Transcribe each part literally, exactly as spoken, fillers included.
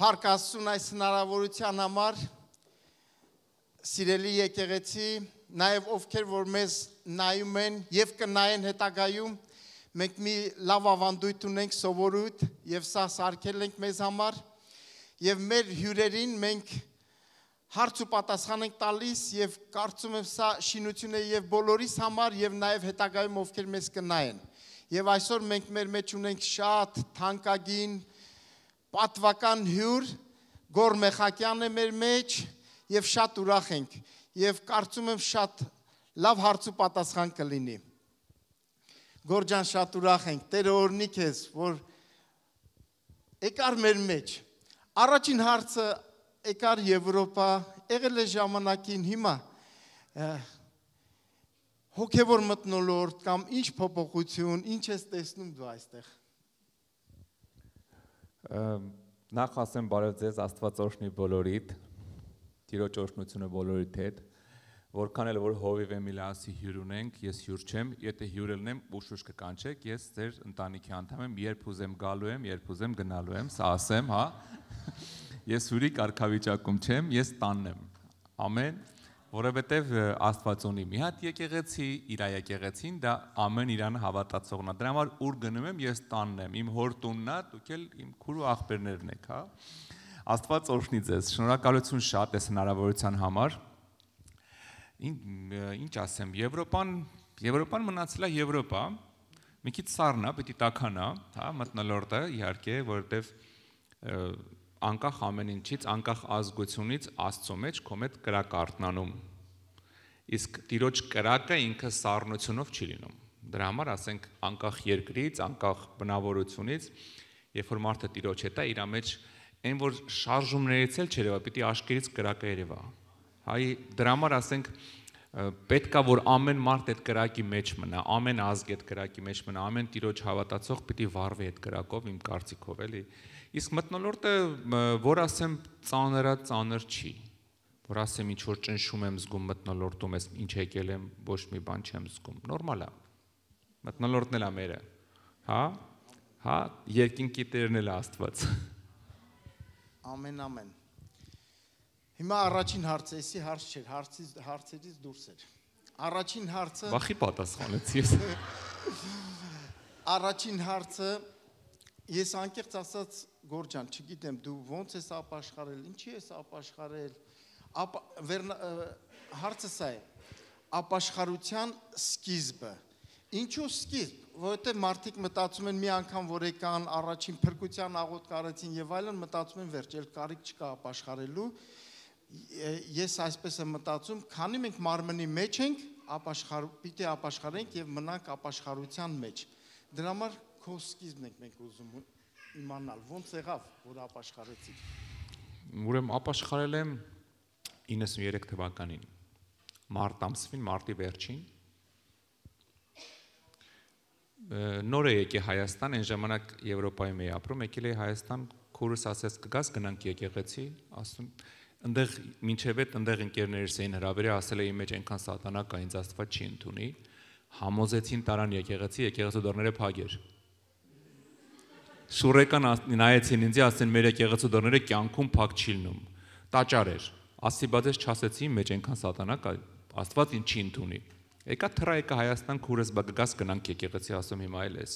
Փառք Աստծուն այս հնարավորության համար, սիրելի եկեղեցի, նաև ովքեր որ մեզ նայում են եւ կնայեն հետագայում, մենք մի լավ ավանդույթ ունենք, սովորույթ եւ սա սարքել ենք մեզ համար եւ մեր հյուրերին մենք հարց ու պատասխան ենք տալիս եւ կարծում եմ սա շինություն է եւ բոլորիս համար եւ նաեւ հետագայում ովքեր մեզ կնայեն։ Եվ այսօր մենք մեր մեջ ունենք շատ թանկագին պատվական հյուր, Գոր Մեխակյանն է մեր մեջ եւ շատ ուրախ ենք եւ կարծում եմ շատ լավ հարց ու պատասխան կլինի։ Գոր ջան, շատ ուրախ ենք, Տերը օրհնի քեզ, որ եկար մեր մեջ։ Առաջին հարցը եկար Եվրոպա, եղել է ժամանակին, հիմա հոգևոր մթնոլորտ կամ ինչ փոփոխություն, ինչ ես տեսնում դու այստեղ։ Նախ ասեմ բարև ձեզ, Աստված օրհնի բոլորիդ, Տիրոջ օրհնությունը բոլորիդ հետ, որքան էլ որ հովիվ Էմիլիասի հյուր ունենք, ես հյուր չեմ, եթե հյուր ելնեմ ուշուշ կկանչեք, ես ձեր ընտանիքի անդամ եմ, երբ ուզեմ գալու եմ, երբ ուզեմ գնալու եմ, սա ասեմ, հա։ Ես հյուրի կարգավիճակում չեմ, ես տանն եմ, ամեն, որովհետև Աստված ունի մի հատ եկեղեցի, իր եկեղեցին, դա ամեն իրան հավատացողն է, դրա համար ուր գնում եմ, ես տանն եմ, իմ հոր տունն է, դուք էլ իմ քուր ու աղբերներն եք, հա։ Աստված օրհնի ձեզ, շնորհակալություն շատ այս հնարավորության համար։ Ինչ ասեմ, Եվրոպան, Եվրոպան մնացել է Եվրոպա, մի քիչ սառն է, պիտի տաքանա, հա, մթնոլորտը իհարկե, որովհետև անկախ ամեն ինչից, անկախ ազգությունից Աստծո մեջ քո մեջ կրակ արտնանում։ Իսկ Տիրոջ կրակը ինքը սառնությունով չի լինում։ Դրա համար ասենք անկախ երկրից, անկախ բնավորությունից, երբ որ մարդը Տիրոջ հետ է, իր մեջ այն որ շարժումներից էլ չերևա, պիտի աշկերից կրակը երևա։ Հայ դրա համար ասենք պետքա որ ամեն մարդ այդ կրակի մեջ մնա, ամեն ազգ այդ կրակի մեջ մնա, ամեն Տիրոջ հավատացող պիտի վառվի այդ կրակով, իմ կարծիքով էլի։ Իսկ մթնոլորտը, որ ասեմ ծանրը ծանր չի, որ ասեմ ինչ որ ճնշում եմ զգում մթնոլորտում, ես ինչ եկել եմ, ոչ մի բան չեմ զգում, նորմալ է, մթնոլորտն էլ է մերը, հա, հա, երկինքի Տերն էլ է Աստված։ Ամեն, ամեն։ Հիմա առաջին հարցը, էսի հարց չէր, հարցերից դուրս էր։ Առաջին հարցը… Վախի պատասխանեցի ես։ Առաջին հարցը, ես անկեղծ ասած Գոր ջան, չգիտեմ, դու ոնց ես ապաշխարել, ինչի ես ապաշխարել, հարցը սա է, ապաշխարության սկիզբը, ինչու սկիզբ, որովհետև մարդիկ մտածում են մի անգամ, որ եկան առաջին փրկության աղոթք արեցին եւ այլն, մտածում են վերջ, էլ կարիք չկա ապաշխարելու, ես այսպես եմ մտածում, քանի մենք մարմնի մեջ ենք, պիտի ապաշխարենք եւ մնանք ապաշխարության մեջ, դրա համար քո սկիզբն ենք մենք ուզում իմանալ, ոնց եղավ, որ ապաշխարեցիք։ Ուրեմն ապաշխարել եմ իննսուններեք թվականին, մարտ ամսվին, մարտի վերջին, նոր է եկե Հայաստան, այն ժամանակ Եվրոպայում էի ապրում, եկել էի Հայաստան, քուրս ասեց կգաս գնանք եկեղեցի, ասում, ընդեղ մինչև այդ ընդեղ ընկերներս էին հրավիրել, ասել էի մեջ այնքան սատանա կա, ինձ Աստված չի ընդունի, համոզեցին տարան եկեղեցի, եկեղեցու դռները փակեր։ Շուրեկան նայեցին ինձ, ասեն մեր եկեղեցու դռները կյանքում փակ չի լինում։ Տաճար էր։ Ասի բայց ես չասեցի մեջ այնքան սատանա կա, Աստված ինձ չի ընդունի։ Եկա թռա եկա Հայաստան քուրս բգգաս գնանք եկեղեցի, ասում հիմա էլ ես։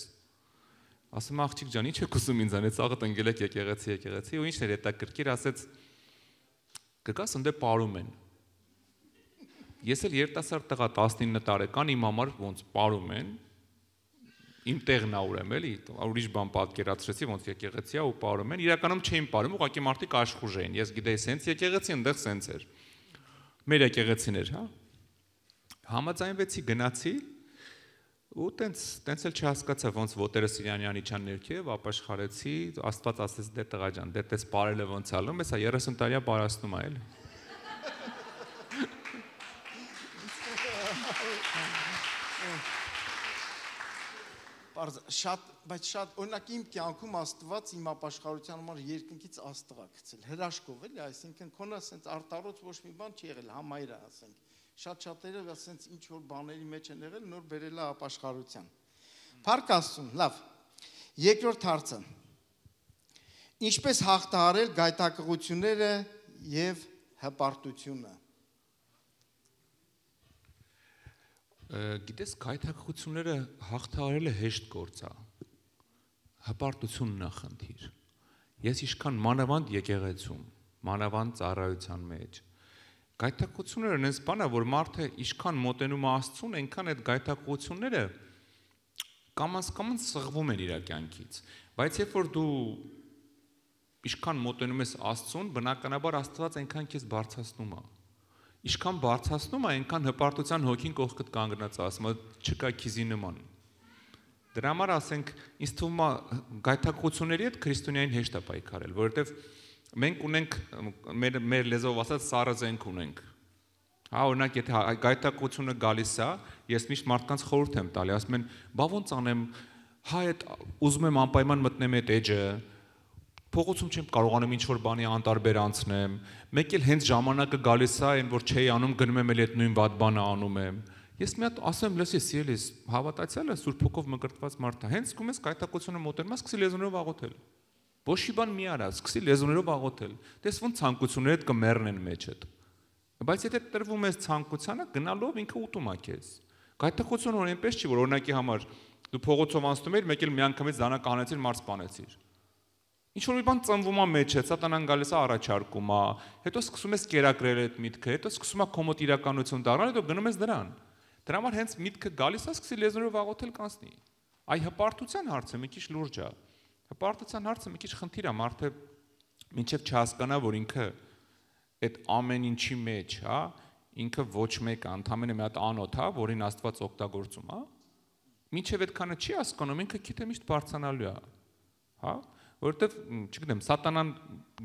Ասում աղջիկ ջան, ինչ եք ուզում ինձանից, աղդ ընկել եք եկեղեցի, եկեղեցի, ու ինչն էր հետաքրքիր, ասեց կգաս ընդե պարում են։ Ես էլ երիտասարդ տղա տասնինը տարեկան իմ համար ոնց պարում են, իմ տեղն ա ուրեմ էլի, ուրիշ բան պատկերացրեցի, ոնց եկեղեցի ա ու պարում են, իրականում չէին պարում, ուղղակի մարդիկ աշխուժ էին, ես գիտեի սենց եկեղեցի, ընդեղ սենց էր, մեր եկեղեցին էր, հա, համաձայնվեցի, գնացի, ու տենց, տենց էլ չհասկացա, ոնց ոտերը Սիրյանյանի չան ներքև, ապաշխարեցի, Աստված ասեց դե տղա ջան, դե տես պարելը ոնց ալում, հեսա երեսուն տարիա պարասնում ա էլ։ Շատ, բայց շատ, օրինակ իմ կյանքում Աստված իմ ապաշխարության համար երկնքից աստղ ա գցել, հրաշքով էլի, այսինքն քոնը ասենց արտարոց ոչ մի բան չի եղել, համայրը ասենք, շատ շատերը ասենց ինչ որ բաների մեջ են եղել, նոր բերել է ապաշխարության։ Փառք Աստծուն, լավ, երկրորդ հարցը, Ինչպես հաղթահարել գայթակղությունները եւ հպարտությունը։ Գիտես, գայթակղությունները հաղթահարելը հեշտ գործ է։ Հպարտությունն է խնդիր։ Ես ինչքան մանավանդ եկեղեցում, մանավանդ ծառայության մեջ, գայթակղությունները այնպես բան է, որ մարդը ինչքան մոտենում է Աստծուն, այնքան այդ գայթակղությունները կամաց-կամաց սղվում են իր կյանքից։ Բայց երբ որ դու ինչքան մոտենում ես Աստծուն, բնականաբար Աստված այնքան քեզ բարձրացնում է։ Ինչքան բարձրացնում է, այնքան հպարտության հոգին կողքդ կանգնած է, ասում է, չկա քիզի նման։ Դրա համար ասենք, ինձ թվում է գայթակղությունների հետ քրիստոնյային հեշտ է պայքարել, որովհետև մենք ունենք մեր մեր լեզվով ասած սառը զենք ունենք։ Հա, օրինակ, եթե գայթակղությունը գալիս է, ես միշտ մարդկանց խորհուրդ եմ տալի, ասում են, բա ոնց անեմ, հա, այդ ուզում եմ անպայման մտնեմ այդ էջը, փողոցում չեմ կարողանում ինչ-որ բանի անտարբեր անցնեմ, մեկ էլ հենց ժամանակը գալիս է, այն որ չէի անում, գնում եմ էլ այդ նույն վատ բանը անում եմ։ Ես մի հատ ասեմ, լսի, սիրելիս, հավատացյալը Սուրբ Հոգով մկրտված մարդ է, հենց սկում ես գայթակղությունը մոտենում ես, սկսի լեզուներով աղոթել։ Ոչ մի բան մի արա, սկսի լեզուներով աղոթել։ Դες ոնց ցանկություններդ կմեռնեն մեջդ։ Բայց եթե տրվում ես ցանկությանը, գնալով ինքը ուտում է քեզ։ Գայթակղությունը որ այնպես չի, որ օրինակի համար դու փողոցով անցնում ես, մեկ էլ միանգամից դանակ հանեցիր, մարդ սպանեցիր։ Ինչ որ մի բան ծնվում է մեջը, սատանան գալիս է առաջարկում է, հետո սկսում ես կերակրել այդ միտքը, հետո սկսում է քո մոտ իրականություն դառնալ, հետո գնում ես դրան։ Դրա համար հենց միտքը գալիս է, սկսի լեզուներով աղոթել կանցնի։ Այ հպարտության հարցը մի քիչ լուրջ է։ Հպարտության հարցը մի քիչ խնդիր է, մարդը մինչև չհասկանա, որ ինքը այդ ամեն ինչի մեջ, հա, ինքը ոչ մեկը, ընդամենը մի հատ անոթ, հա, որին Աստված օգտագործում, հա։ Մինչև այդքանը չի հասկանում, ինքը գիտե միշտ բարձրանալու է, հա։ Որովհետև, չգիտեմ, սատանան,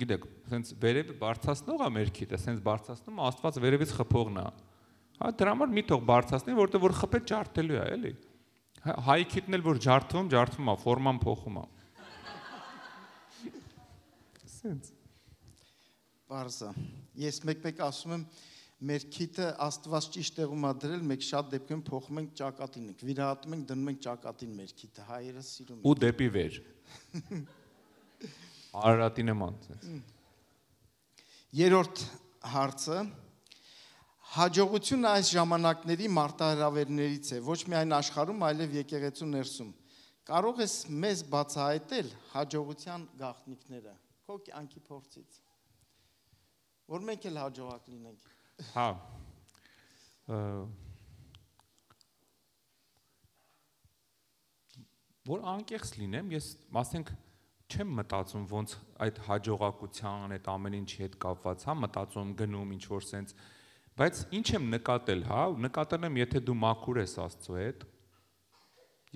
գիտեք, սենց վերև բարձրացնող է մեր քիթը, սենց բարձրացնում է, Աստված վերևից խփողն է։ Հա, դրա համար մի թող բարձրացնի, որովհետև որ խփել ջարդելու է, էլի։ Հայի քիթն էլ որ ջարդվում, ջարդվում է, ֆորման փոխում է։ Սենց։ Բարձա։ Ես մեկ-մեկ ասում եմ, մեր քիթը Աստված ճիշտ տեղում է դրել, մենք շատ դեպքում փոխում ենք ճակատին ենք, վիրահատում ենք, դնում ենք ճակատին մեր քիթը, հայերը սիրում են։ Ու դեպի վեր։ Արարատի նման։ Երրորդ հարցը հաջողությունը այս ժամանակների մարտահրավերներից է, ոչ միայն աշխարհում, այլև եկեղեցու ներսում։ Կարող ես մեզ բացահայտել հաջողության գաղտնիքները քո կյանքի փորձից, որ մենք էլ հաջողակ լինենք։ Հա։ Որ անկեղծ լինեմ, ես ասենք չեմ մտածում ոնց այդ հաջողակության, այդ ամեն ինչի հետ կապված, հա, մտածում գնում ինչ որ սենց, բայց ինչ եմ նկատել, հա, նկատել եմ, եթե դու մաքուր ես Աստծո հետ,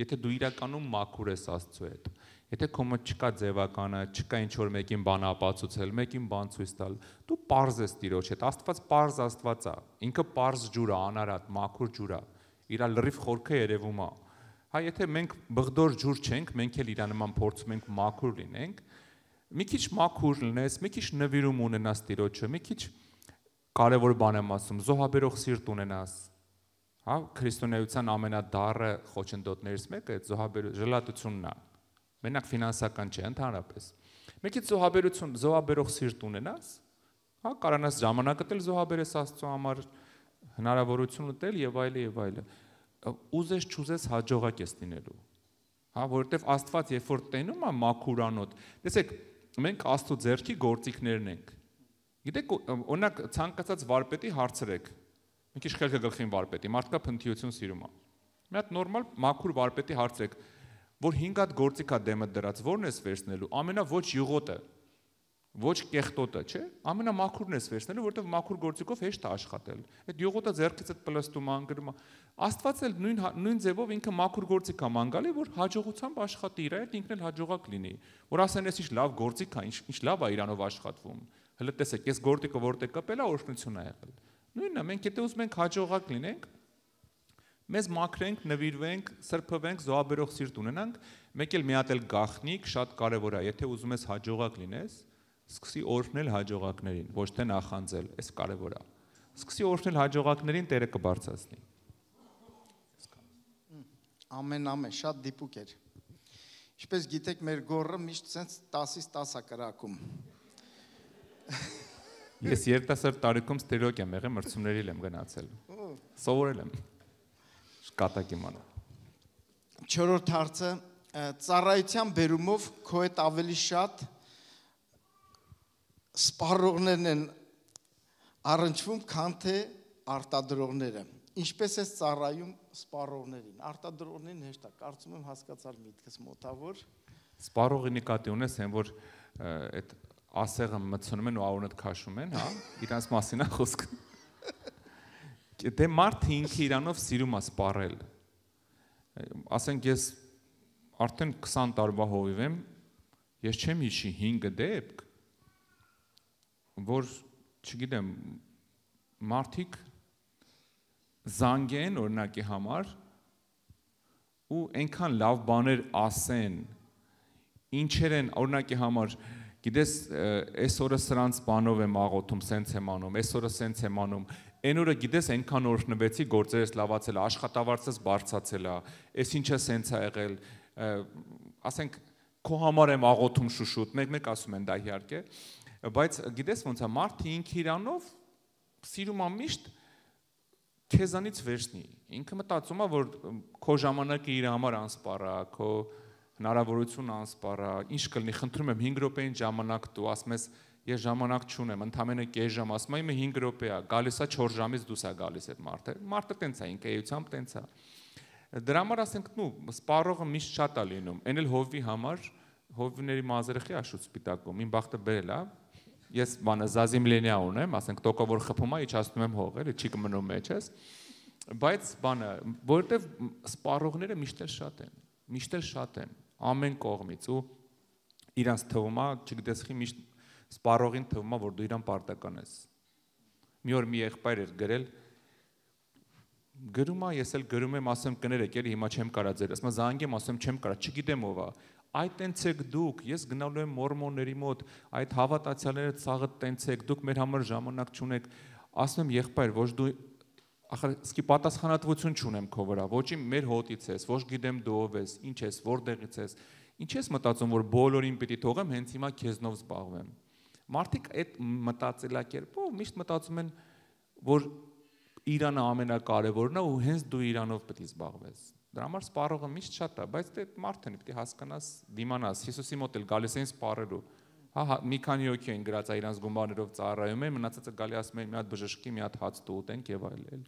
եթե դու իրականում մաքուր ես Աստծո հետ, եթե քո մոտ չկա ձևականը, չկա ինչ որ մեկին բան ապացուցել, մեկին բան ցույց տալ, դու պարզ ես Տիրոջ հետ, Աստված պարզ Աստված է, ինքը պարզ ջուր է, անարատ, մաքուր ջուր է, իր լրիվ խորքը երևում է։ Հա, եթե մենք բղդոր ջուր չենք, մենք էլ իր նման փորձում ենք մաքուր լինենք, մի քիչ մաքուր լինես, մի քիչ նվիրում ունենաս Տիրոջը, մի քիչ կարևոր բան եմ ասում, զոհաբերող սիրտ ունենաս։ Հա, քրիստոնեության ամենադառը խոչընդոտներից մեկը այդ զոհաբերություն, ժլատությունն է։ Մենակ ֆինանսական չէ, ընդհանրապես։ Մի քիչ զոհաբերություն, զոհաբերող սիրտ ունենաս, հա, կարողանաս ժամանակդ էլ զոհաբերես Աստծո համար, հնարավորություն ուտել եւ այլը եւ այլը։ Ուզես չուզես հաջողակ ես լինելու։ Հա, որովհետեւ Աստված երբ որ տենում է մաքուրանոտ, տեսեք, մենք Աստծո ձեռքի գործիքներն ենք։ Գիտեք, օրինակ ցանկացած վարպետի հարցրեք։ Մի քիչ խելքը գլխին վարպետի, մարդկա փնթիություն սիրում է։ Մի հատ նորմալ մաքուր վարպետի հարցրեք, որ հինգ հատ գործիք է դեմը դրած, ո՞րն ես վերցնելու։ Ամենա ոչ յուղոտը, ոչ կեղտոտը, չէ՞։ Ամենամաքուրն ես վերցնելու, որովհետև մաքուր գործիքով հեշտ է աշխատել։ Այդ յուղոտը ձեռքից այդ պլստում անգրում է։ Աստված էլ նույն նույն ձևով ինքը մաքուր գործիք է մանգալի, որ հաջողությամբ աշխատի իր հետ, ինքն էլ հաջողակ լինի։ Որ ասեն, ես ինչ լավ գործիք է, ինչ ինչ լավ է իրանով աշխատվում։ Հələ տեսեք, ես գործիքը որտեղ կպել է, օրհնություն է եղել։ Նույնն է, մենք եթե ուզում ենք հաջողակ լինենք, մեզ մաքրենք, նվիրվենք, սրբվենք, զոհաբերող սիրտ ունենանք, մեկ էլ մի հատ էլ գաղտնիք շատ կարևոր է, եթե ուզում ես հաջողակ լինես, սկսի օրհնել հաջողակներին, ոչ թե նախանձել, այս կարևոր է։ Սկսի օրհնել հաջողակներին, Տերը կբարձրացնի։ Ամեն ամեն, շատ դիպուկ էր։ Ինչպես գիտեք, մեր գորը միշտ sense տասից տասը կրակում։ Ես երիտասարդ տարիքում ստերոկ եմ եղել, մրցումների եմ գնացել։ Սովորել եմ։ Շկատակ իմանա։ Չորրորդ հարցը ծառայության բերումով քո հետ ավելի շատ սպառողներն են առնչվում, քան թե արտադրողները։ Ինչպես է ծառայում սպառողներին, արտադրողներին հեշտ է, կարծում եմ հասկացար միտքս մոտավոր։ Սպառողի նկատի ունես, այն որ այդ ասեղը մտցնում են ու արունդ քաշում են, հա, իրանց մասին է խոսքը։ Դե մարդը ինքը իրանով սիրում է սպառել։ Ասենք ես արդեն քսան տարվա հովիվ եմ, ես չեմ հիշի հինգ դեպք, որ չգիտեմ, մարդիկ զանգեն օրինակի համար ու այնքան լավ բաներ ասեն, ինչեր են օրինակի համար, գիտես, այս օրը սրանց բանով եմ աղոթում, սենց եմ անում, այս օրը սենց եմ անում, այն օրը գիտես այնքան օրհնվեցի, գործերս լավացել է, աշխատավարձս բարձրացել է, այս ինչը սենց է եղել, ասենք քո համար եմ աղոթում շուշուտ, մեկ-մեկ ասում են դա իհարկե, բայց գիտես ոնց է, մարդը ինքը իրանով սիրում է միշտ քեզանից վերցնի, ինքը մտածում է, որ քո ժամանակը իր համար անսպառ է, քո հնարավորություն անսպառ է, ինչ կլինի, խնդրում եմ հինգ րոպեին ժամանակ տու, ասում ես ես ժամանակ չունեմ, ընդամենը կես ժամ, ասում եմ հինգ րոպե է, գալիս է չորս ժամից դուրս է գալիս այդ մարդը, մարդը տենց է, ինքը էությամբ տենց է։ Դրա համար ասենք, նու, սպառողը միշտ շատ է լինում, այն էլ հովվի համար, հովիների մազերը խի աշուտ սպիտակում, իմ բախտը բերել է, ես բանը զազիմլենիա ունեմ, ասենք տոկը որ խփում է, իջացնում եմ հող, էլի չի կմնում մեջ ես, բայց բանը, որովհետև սպառողները միշտ էլ շատ են, միշտ էլ շատ են, ամեն կողմից ու իրանց թվում է, չգիտես խի միշտ սպառողին թվում է, որ դու իրան պարտական ես։ Մի օր մի եղբայր էր գրել, գրում է, ես էլ գրում եմ, ասեմ կներեք, էլի հիմա չեմ կարա ձեր, ասում եմ զանգեմ, ասում չեմ կարա, չգիտեմ ով է։ Այդ տենց եք դուք, ես գնալու եմ մորմոնների մոտ, այդ հավատացյալները ցաղը տենց եք, դուք մեր համար ժամանակ չունեք, ասում եմ եղբայր, ոչ դու ախր սկի պատասխանատվություն չունեմ քո վրա, ոչ իմ մեր հոտից ես, ոչ գիտեմ դու ով ես, ինչ ես, որտեղից ես, ինչ ես մտածում, որ բոլորին պիտի թողեմ, հենց հիմա քեզնով զբաղվեմ։ Մարդիկ այդ մտածելակերպով միշտ մտածում են, որ Իրանը ամենակարևորն է ու հենց դու իրանով պետք է զբաղվես։ Դրա համար սպառողը միշտ շատ է, բայց դե մարդն պետք է հասկանաս, դիմանաս, Հիսուսի մոտ էլ գալիս էին սպառելու։ Հա, մի քանի հոգի են գրած իրանց գումարներով ծառայում են, մնացածը գալի ասում են մի հատ բժշկի, մի հատ հաց տուտենք եւ այլն։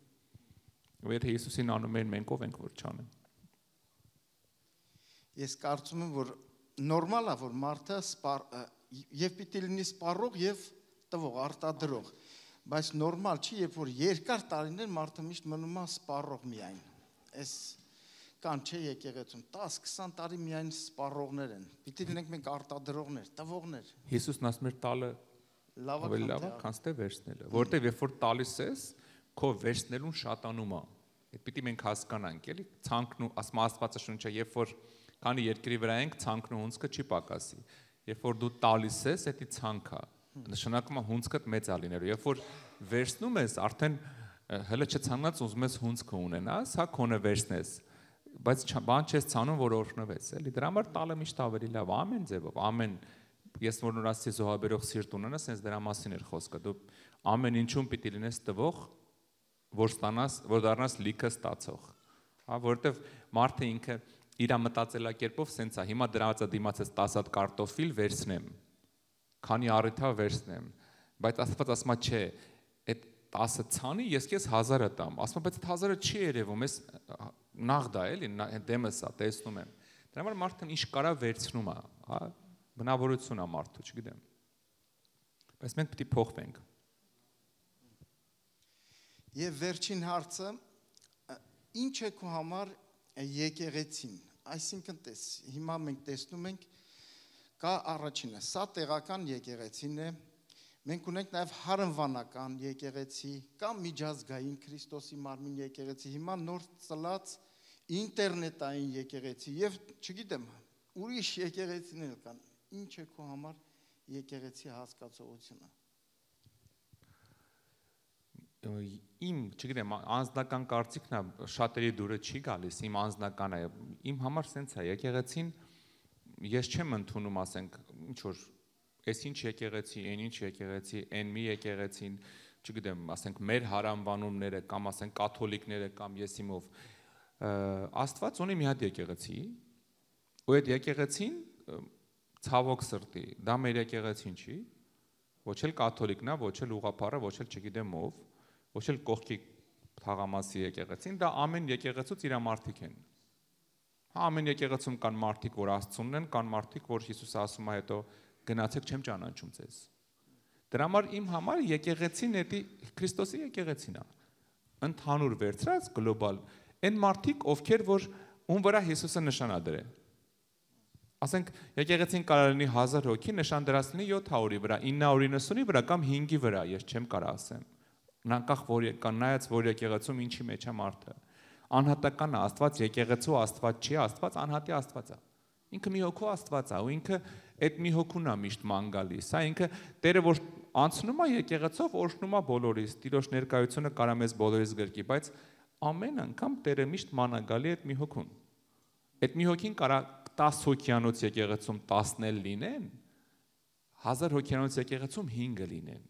Ու եթե Հիսուսին անում են, մենք ով ենք որ չանեն։ Ես կարծում եմ, որ նորմալ է, որ մարդը սպառ եւ պիտի լինի սպառող եւ տվող, արտադրող, բայց նորմալ չի, երբ որ երկար տարիներ մարդը միշտ մնում է սպառող միայն։ Այս կան չէ եկեղեցում տասը քսան տարի միայն սպառողներ են։ Պիտի լինենք մենք արտադրողներ, տվողներ։ Հիսուսն ասում էր տալը լավը լավը, քան թե վերցնելը, որտեվ երբ որ տալիս ես, քո վերցնելուն շատանում է։ Այդ պիտի մենք հասկանանք, էլի, ցանկն ու ասում Աստվածաշունչը, երբ որ քանի երկրի վրա ենք, ցանկն ու հունցքը չի պակասի։ Երբ որ դու տալիս ես, դա ցանկ է։ Նշանակում է հունցքդ մեծ է լինելու։ Երբ որ վերցնում ես, արդեն հələ չցանած ուզում ես հունցքը ունենաս, հա քոնը վերցնես, բայց բան չես ցանում, որ օրհնվես, էլի։ Դրա համար տալը միշտ ավելի լավ, ամեն ձևով, ամեն ես որ նոր ասեցի զոհաբերող սիրտ ունենաս, հենց դրա մասին էր խոսքը։ Դու ամեն ինչում պիտի լինես տվող, որ ստանաս, որ դառնաս լիքը ստացող։ Հա, որովհետև մարդը ինքը իր մտածելակերպով սենց է, հիմա դրանից դիմացած տասը հատ կարտոֆիլ վերցնեմ, քանի առիթա վերցնեմ, բայց Աստված ասում է չէ, այդ տասը ցանի ես քեզ հազարը տամ, ասում բայց այդ հազարը չի երևում, ես նախ դա էլի, դեմս է, տեսնում եմ։ Դրա համար մարդն ինչ կարա վերցնում է, հա, բնավորություն է մարդու, չգիտեմ։ Բայց մենք պետք է փոխվենք։ Եվ վերջին հարցը, ինչ է քո համար եկեղեցին, այսինքն տես, հիմա մենք տեսնում ենք, կա առաջինը, սա տեղական եկեղեցին է, մենք ունենք նաև հարնվանական եկեղեցի, կա միջազգային Քրիստոսի մարմին եկեղեցի, հիմա նոր ծլած ինտերնետային եկեղեցի և չգիտեմ, ուրիշ եկեղեցիներ կան, ինչ է քո համար եկեղեցի հասկացողությունը։ Իմ, չգիտեմ, անձնական կարծիքն է, շատերի դուրը չի գալիս, իմ անձնական է, իմ համար սենց է, եկեղեցին ես չեմ ընդունում, ասենք, ինչ որ այս ինչ եկեղեցի, այն ինչ եկեղեցի, այն մի եկեղեցին, չգիտեմ, ասենք մեր հարանվանումները կամ ասենք կաթոլիկները կամ եսիմով Աստված ունի մի հատ եկեղեցի, ու այդ եկեղեցին ցավոք սրտի, դա մեր եկեղեցին չի, ոչ էլ կաթոլիկն է, ոչ էլ ուղղափառը, ոչ էլ չգիտեմ ով, ոչ էլ կողքի թաղամասի եկեղեցին, դա ամեն եկեղեցուց իր մարդիկ են։ Հա ամեն եկեղեցում կան մարդիկ, որ Աստծունն են, կան մարդիկ, որ Հիսուսը ասում է հետո գնացեք չեմ ճանաչում ձեզ։ Դրա համար իմ համար եկեղեցին էդի Քրիստոսի եկեղեցին է։ Ընդհանուր վերցրած գլոբալ այն մարդիկ, ովքեր որ ում վրա Հիսուսը նշան ա դրել։ Ասենք եկեղեցին կարող լինի հազար հոգի, նշան դրած լինի յոթ հարյուրի վրա, ինը հարյուր իննսունի վրա կամ հինգի վրա, ես չեմ կարող ասեմ։ Անկախ որ կան նայած որ եկեղեցում ինչի մեջ է մարդը։ Անհատական է Աստված, եկեղեցու Աստված չի, Աստված անհատի Աստված է։ Ինքը մի հոգու Աստված է, ու ինքը այդ մի հոգուն է միշտ ման գալիս, հա ինքը Տերը որ անցնում է եկեղեցով, օրհնում է բոլորիս, Տիրոջ ներկայությունը կարա մեզ բոլորիս գրկի, բայց ամեն անգամ Տերը միշտ ման է գալի այդ մի հոգուն։ Այդ մի հոգին կարա տասը հոգյանոց եկեղեցում տասն էլ լինեն, հազար հոգյանոց եկեղեցում հինգը լինեն։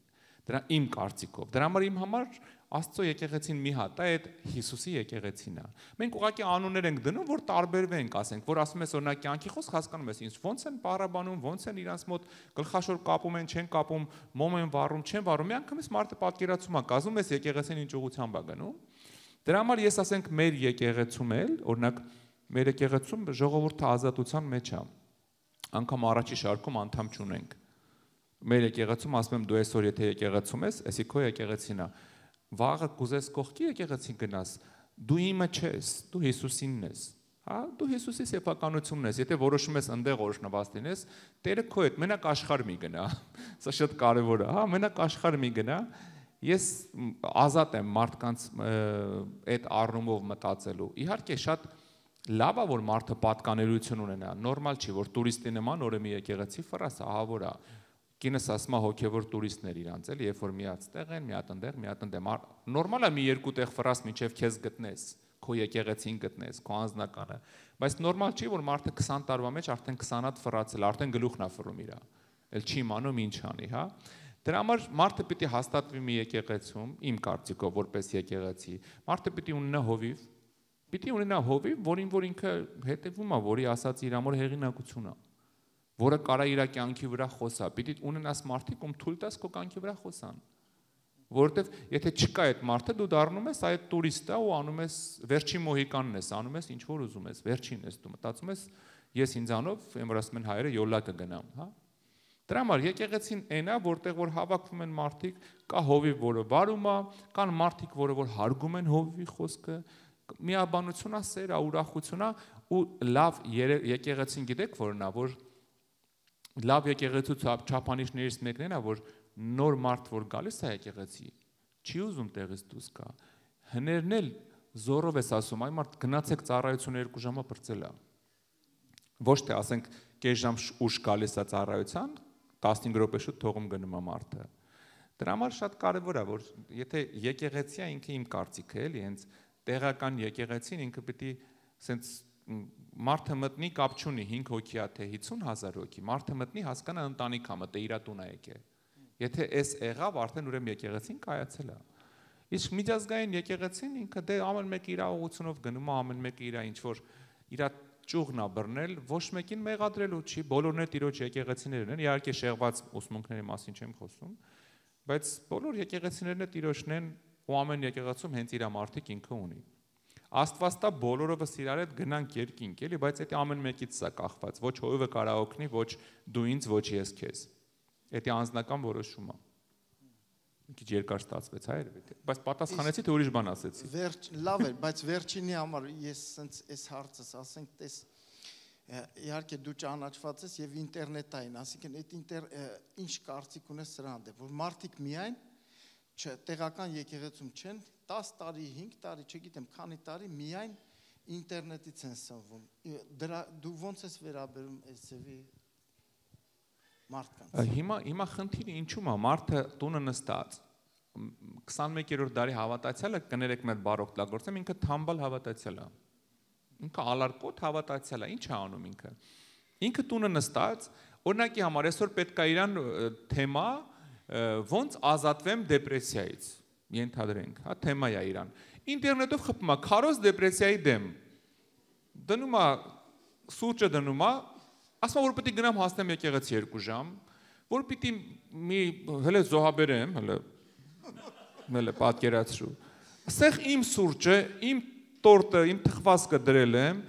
Դրա իմ կարծիքով։ Դրա համար իմ համար Աստծո եկեղեցին մի հատ է, այդ Հիսուսի եկեղեցին է։ Մենք ուղղակի անուններ ենք դնում, որ տարբերվենք, ասենք, որ ասում ես օրինակ կյանքի խոսք հասկանում ես, ինձ ոնց են պարաբանում, ոնց են իրանց մոտ գլխաշոր կապում են, չեն կապում, մոմ են վառում, չեն վառում։ Մի անգամից մարդը պատկերացում է, կազմում ես եկեղեցին ինչ ուղղությամբ է գնում։ Դրա համար ես ասենք մեր եկեղեցում էլ, օրինակ մեր եկեղեցում ժողովուրդը ազատության մեջ է։ Անկամ առաջի շարքում անդամ չունենք։ Մեր եկեղեցում ասում եմ դու այսօր եթե եկեղեցում ես, էսի քո եկեղեցին է։ Վաղը կուզես կողքի եկեղեցին գնաս, դու իմը չես, դու Հիսուսինն ես, հա, դու Հիսուսի սեփականությունն ես, եթե որոշում ես ընդեղ օրհնված լինես, Տերը քո հետ մենակ աշխարհ մի գնա, սա շատ կարևոր է, հա, մենակ աշխարհ մի գնա, ես ազատ եմ մարդկանց այդ առումով մտածելու, իհարկե շատ լավ է որ մարդը պատկանելություն ունենա, նորմալ չի որ տուրիստի նման օրը մի եկեղեցի ֆրաս ահավոր է Կինս ասում է հոգևոր տուրիստներ իրանց էլ, երբ որ միած տեղ են, մի հատ ընդեղ, մի հատ ընդեմ։ Նորմալ է մի երկու տեղ ֆրաս մինչև քեզ գտնես, քո եկեղեցին գտնես, քո անձնականը, բայց նորմալ չի որ մարդը քսան տարվա մեջ արդեն քսան հատ ֆրացել, արդեն գլուխն է ֆռում իրա։ Էլ չի իմանում ինչ անի, հա։ Դրա համար մարդը պիտի հաստատվի մի եկեղեցում, իմ կարծիքով որպես եկեղեցի, մարդը պիտի ունենա հովիվ, պիտի ունենա հովիվ, որին որ ինքը հետևում է, որի ասած իր ամոր հեղինակություն է։ Որը կարա իր կյանքի վրա խոսա, պիտի ունենաս մարդիկ, ում թույլ տաս քո կյանքի վրա խոսան։ Որովհետև եթե չկա այդ մարդը, դու դառնում ես այդ տուրիստը ու անում ես վերջին մոհիկանն ես, անում ես ինչ որ ուզում ես, վերջին ես դու մտածում ես, ես ինձանով, եմ որ ասում են հայերը յոլա կգնամ, հա։ Դրա համար եկեղեցին այնա, որտեղ որ հավաքվում են մարդիկ, կա հովիվ, որը վարում է, կան մարդիկ, որը որ հարգում են հովիվի խոսքը, միաբանություն է, սեր է, ուրախություն է ու լավ եկեղեցին գիտեք որն է, որ լավ եկեղեցու չափանիշներից մեկն է, որ նոր մարդ որ գալիս է եկեղեցի, չի ուզում տեղից դուրս գա։ Հներն էլ զորով ես ասում, այ մարդ գնացեք ծառայությունը երկու ժամը բրծել է։ Ոչ թե ասենք կես ժամ ուշ գալիս է ծառայության, տասնհինգ րոպե շուտ թողում գնում է մարդը։ Դրա համար շատ կարևոր է, որ եթե եկեղեցի է ինքը իմ կարծիքը էլի, հենց տեղական եկեղեցին ինքը պիտի սենց մարդը մտնի կապ չունի հինգ հոգի է թե հիսուն հազար հոգի, մարդը մտնի հասկանա ընտանիք է մտե իր տուն է եկել։ Եթե էս եղավ, արդեն ուրեմն եկեղեցին կայացել է։ Իսկ միջազգային եկեղեցին ինքը դե ամեն մեկը իր ուղղությունով գնում է, ամեն մեկը իր ինչ որ իր ճյուղն է բռնել, ոչ մեկին մեղադրելու չի, բոլորն էլ տիրոջ եկեղեցիներն են, իհարկե շեղված ուսմունքների մասին չեմ խոսում, բայց բոլոր եկեղեցիներն էլ տիրոջն են ու ամեն եկեղեցում հենց իր մարդիկ ինքը ունի։ Աստված տա բոլորովս իրար հետ գնանք երկինք, էլի, բայց դա ամեն մեկից սա կախված, ոչ հովիվը կարա օգնի, ոչ դու ինձ, ոչ ես քեզ։ Դա անձնական որոշում է։ Մի քիչ երկար ստացվեց, հայր, բայց պատասխանեցի թե ուրիշ բան ասեցի։ Վերջ լավ էր, բայց վերջինի համար ես սենց այս հարցս ասենք, տես իհարկե դու ճանաչված ես եւ ինտերնետային, ասիկն այդ ինտեր ինչ կարծիք ունես սրա հանդեպ, որ մարդիկ միայն տեղական եկեղեցում չեն, տասը տարի, հինգ տարի, չգիտեմ, քանի տարի միայն ինտերնետից են սնվում։ Դրա դու ոնց ես վերաբերում այս ձևի մարդկանց։ Հիմա հիմա խնդիրը ինչու՞մ է, մարդը տունը նստած քսանմեկերորդ դարի հավատացյալը կներեք մեր բառ օգտագործեմ, ինքը թամբալ հավատացյալ է։ Ինքը ալարկոտ հավատացյալ է, ինչ է անում ինքը։ Ինքը տունը նստած, օրինակի համար այսօր պետք է իրան թեմա ոնց ազատվեմ դեպրեսիայից, ենթադրենք, հա, թեմա է իրան։ Ինտերնետով խփում է քարոզ դեպրեսիայի դեմ։ Դնում է սուրճը դնում է, ասում որ պետք է գնամ հասնեմ եկեղեցի երկու ժամ, որ պիտի մի հələ զոհաբերեմ, հələ հələ պատկերացրու։ Ասեղ իմ սուրճը, իմ տորտը, իմ թխվածքը դրել եմ,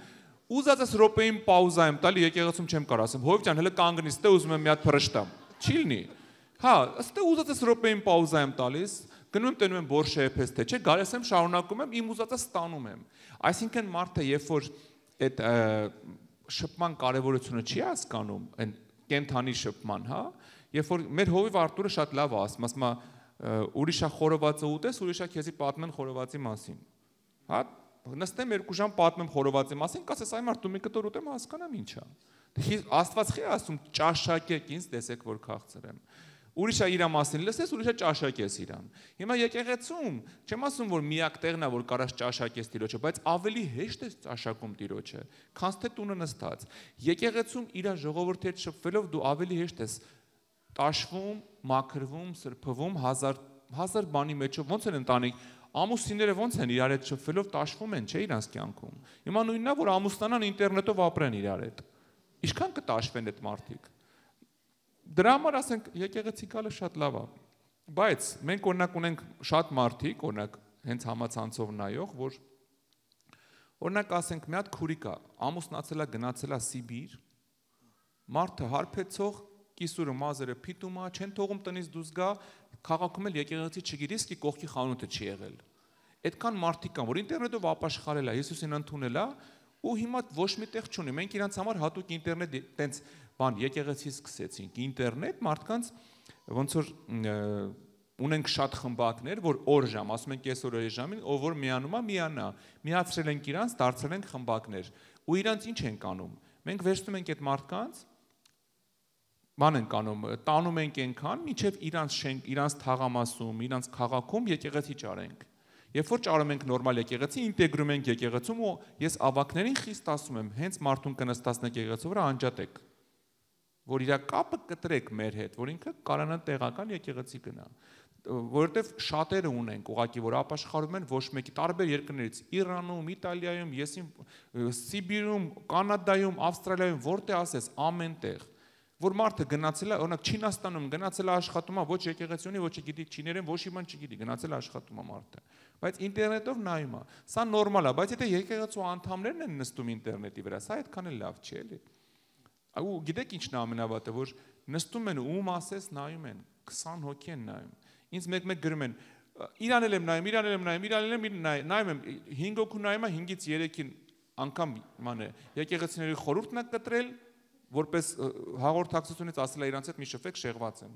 ուզածս րոպեին պաուզա եմ տալի, եկեղեցում չեմ կարող ասեմ, հովիվ ջան, հələ կանգնի, ստե ուզում եմ մի հատ փռշտամ։ Չի լինի։ Հա, ստե ուզածս րոպեին պաուզա եմ տալիս, գնում եմ տենում եմ բորշե էփես թե, չէ, գալիս եմ շարունակում եմ, իմ ուզածս ստանում եմ։ Այսինքն մարդը, երբ որ այդ շփման կարևորությունը չի հասկանում, այն կենթանի շփման, հա, երբ որ մեր հովիվ Արտուրը շատ լավ է ասում, ասում է ուրիշա խորովածը ուտես, ուրիշա քեզի պատմեն խորովածի մասին։ Հա, նստեմ երկու ժամ պատմեմ խորովածի մասին, կասես այ մարդ դու մի կտոր ուտեմ հասկանամ ինչա։ Աստված չի ասում ճաշակեք ինձ, տեսեք որ քաղցր եմ։ Ուրիշա իրա մասին լսես, ուրիշա ճաշակես իրան։ Հիմա եկեղեցում չեմ ասում որ միակ տեղն է որ կարաս ճաշակես Տիրոջը, բայց ավելի հեշտ է ճաշակում Տիրոջը, քան թե տունը նստած։ Եկեղեցում իր ժողովրդի հետ շփվելով դու ավելի հեշտ ես տաշվում, մաքրվում, սրբվում, հազար հազար բանի մեջով ոնց են ընտանիք ամուսինները ոնց են իրար հետ շփվելով տաշվում են, չէ՞ իրանց կյանքում։ Հիմա նույնն է որ ամուսնանան ինտերնետով ապրեն իրար հետ։ Ինչքան կտաշվեն այդ մարդիկ։ Դրա համար ասենք եկեղեցի գալը շատ լավ է, բայց մենք օրինակ ունենք շատ մարդիկ, օրինակ հենց համացանցով նայող, որ օրինակ ասենք մի հատ քուրիկ է, ամուսնացել է, գնացել է Սիբիր, մարդը հարբեցող, կիսուրը մազերը փիտում է, չեն թողում տնից դուրս գա, քաղաքում էլ եկեղեցի չգիտի, իսկի կողքի խանութը չի եղել։ Այդքան մարդիկ կան, որ ինտերնետով ապաշխարել է, Հիսուսին ընդունել է, ու հիմա ոչ մի տեղ չունի։ Մենք իրանց համար հատուկ ինտերնետ տենց բան եկեղեցի սկսեցինք, ինտերնետ մարդկանց ոնց որ ունենք շատ խմբակներ, որ օր ժամ, ասում ենք այսօր այս ժամին, ով որ միանում է, միանա, միացրել ենք իրանց, դարձրել ենք խմբակներ, ու իրանց ինչ ենք անում։ Մենք վերցնում ենք այդ մարդկանց, բան ենք անում, տանում ենք այնքան, մինչև իրանց շենք, իրանց թաղամասում, իրանց քաղաքում եկեղեցի ճարենք։ Երբ որ ճարում ենք նորմալ եկեղեցի, ինտեգրում ենք եկեղեցում ու ես ավակներին խիստ ասում եմ, հենց մարդուն կնստացնեք եկեղեցու վրա անջատեք, որ իր կապը կտրեք մեր հետ, որ ինքը կարանա տեղական եկեղեցի գնա, որովհետև շատերը ունենք ուղղակի, որ ապաշխարում են ոչ մեկի տարբեր երկրներից, Իրանում, Իտալիայում, եսին Սիբիրում, Կանադայում, Ավստրալիայում, որտեղ ասես, ամեն տեղ, որ մարդը գնացել է, օրինակ Չինաստանում գնացել է աշխատում է, ոչ եկեղեցի ունի, ոչ գիտի չիներեն, ոչ իման չգիտի, գնացել է աշխատում է մարդը։ Բայց ինտերնետով նայում է։ Սա նորմալ է, բայց եթե եկեղեցու անդամներն են նստում ինտերնետի վրա, սա այդքան էլ լավ չի, էլի։ Ու գիտեք ինչն է ամենավատը, որ նստում են ում ասես նայում են, քսան հոգի են նայում։ Ինձ մեկ-մեկ գրում են, իրան էլ եմ նայում, իրան էլ եմ նայում, իրան էլ եմ նայում եմ, հինգ հոգու նայում է, հինգից երեքին անգամ ման է, եկեղեցիների խորհուրդն է կտրել, որպես հաղորդակցությունից ասել է իրանց հետ մի շփվեք շեղված են։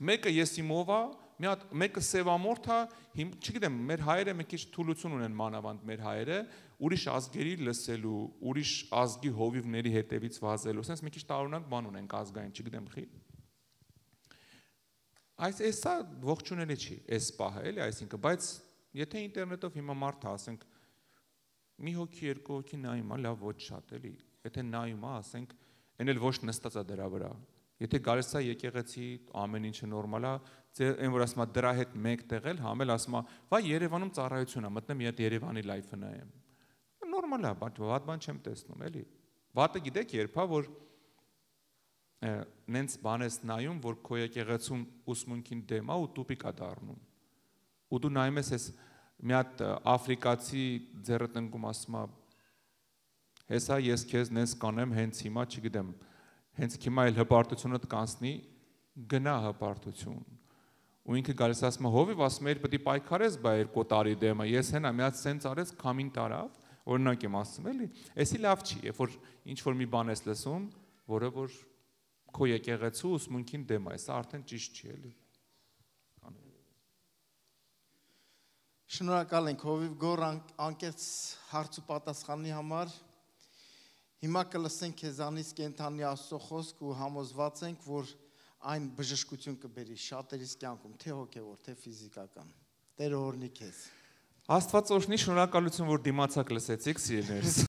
Մեկը եսիմով է, մի հատ մեկը սևամորթ է, չգիտեմ, մեր հայերը մի քիչ թուլություն ունեն մանավանդ մեր հայերը, ուրիշ ազգերի լսելու, ուրիշ ազգի հովիվների հետևից վազելու, ասես մի քիչ տարօրինակ բան ունենք ազգային, չգիտեմ, խի։ Այս էսա ողջունելի չի, էս պահը, էլի, այսինքն, բայց եթե ինտերնետով հիմա մարդը ասենք մի հոգի, երկու հոգի նայում է, լավ ոչ շատ, էլի, եթե նայում է, ասենք այն էլ ոչ նստած է դրա վրա։ Եթե գալիս է եկեղեցի, ամեն ինչը նորմալ է, այն որ ասում է դրա հետ մեկ տեղել, համ էլ ասում է, վայ Երևանում ծառայություն է, մտնեմ մի հատ Երևանի լայֆը նայեմ։ Նորմալ է, վատ բան չեմ տեսնում, էլի։ Վատը գիտեք երբ է, որ նենց բան ես նայում, որ քո եկեղեցում ուսմունքին դեմ է ու տուպիկ է դառնում։ Ու դու նայում ես, մի հատ աֆրիկացի ձեռը տնկում ասում է հեսա ես քեզ նենց կանեմ հենց հիմա, չգիտեմ, հենց հիմա էլ հպարտությունդ կանցնի, գնա հպարտություն։ Ու ինքը գալիս ասում է հովիվ, ասում է իր պետք է պայքարես բա երկու տարի դեմը, ես հենա մի հատ սենց արեց քամին տարավ, օրինակ եմ ասում էլի, էսի լավ չի, երբ որ ինչ որ մի բան ես լսում, որը որ քո եկեղեցու ուսմունքին դեմ է, սա արդեն ճիշտ չի էլի։ Շնորհակալ ենք հովիվ Գոր անկեղծ հարց ու պատասխանի համար։ Հիմա կլսենք քեզանից կենթանի Աստծո խոսք ու համոզված ենք, որ այն բժշկություն կբերի շատերիս կյանքում, թե հոգևոր, թե ֆիզիկական։ Տերը օրհնի քեզ։ Աստված օրհնի, շնորհակալություն, որ դիմացակ լսեցիք, սիրելիներս։